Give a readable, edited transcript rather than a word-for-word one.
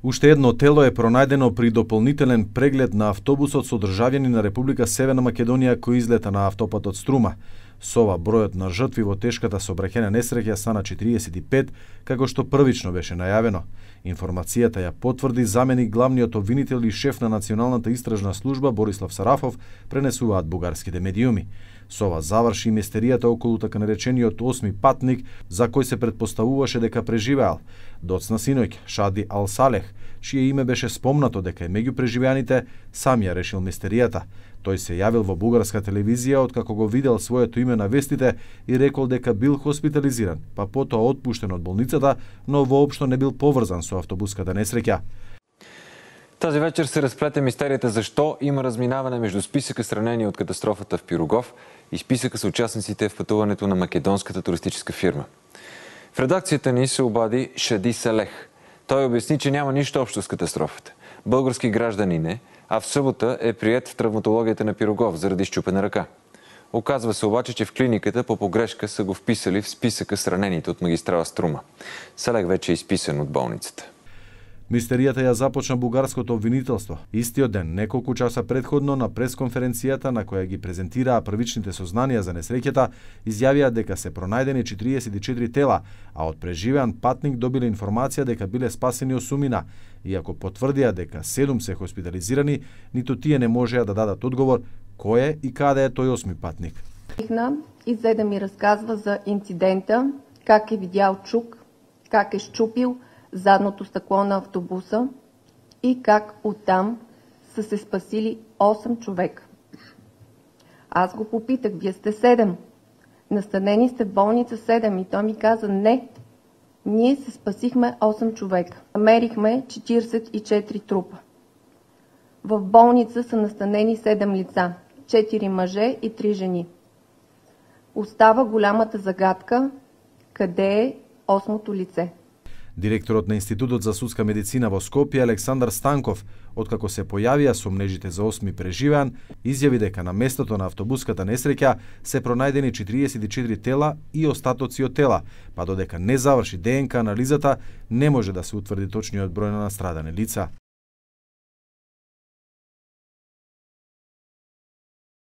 Уште едно тело е пронајдено при дополнителен преглед на автобусот со државјани на Република Северна Македонија кој излета на автопатот Струма. Со ова бројот на жртви во тешката сообраќајна несреќа стана 45, како што првично беше најавено. Информацијата ја потврди заменик главниот обвинител и шеф на Националната истражна служба Борислав Сарафов, пренесуваат бугарските медиуми. Со ова заврши и мистеријата околу така наречениот 8ми патник, за кој се претпоставуваше дека преживеал. Доцна синоќ Шади Ал Салех, чие име беше спомнато дека е меѓу преживеаните, сам ја решил мистеријата. Тој се јавил во бугарска телевизија откако го видел своето име на вестите и рекол дека бил хоспитализиран, па потоа отпуштен од болницата, но воопшто не бил поврзан со автобуската несреќа. Тази вечер се разплете мистерията защо има разминаване между списъка с ранени от катастрофата в Пирогов и списъка с участниците в пътуването на македонската туристическа фирма. В редакцията ни се обади Шади Салех. Той обясни, че няма нищо общо с катастрофата. Български гражданин е, а в събота е приет в травматологията на Пирогов заради счупена ръка. Оказва се обаче, че в клиниката по погрешка са го вписали в списъка с ранените от магистрала Струма. Салех вече е изписан от болницата. Мистеријата ја започна бугарското обвинителство. Истиот ден, неколку часа предходно, на пресконференцијата на која ги презентираа првичните сознанија за несреќата, изјавија дека се пронајдени 44 тела, а од преживеан патник добиле информација дека биле спасени 8, иако потврдија дека 7 се хоспитализирани, ниту тие не можеа да дадат одговор кој е и каде е тој 8ми патник. И за да ми разказва за инцидента, как е видял чук, как е счупил задното стъкло на автобуса и как оттам са се спасили 8 човека. Аз го попитах, вие сте 7, настанени сте в болница 7 и той ми каза не, ние се спасихме 8 човека. Намерихме 44 трупа. В болница са настанени 7 лица, 4 мъже и 3 жени. Остава голямата загадка, къде е 8-то лице. Директорот на Институтот за судска медицина во Скопје Александар Станков, откако се појавија сомнежите за 8 преживеан, изјави дека на местото на автобуската несреќа се пронајдени 44 тела и остатоци од тела, па додека не заврши ДНК анализата, не може да се утврди точниот број на настрадани лица.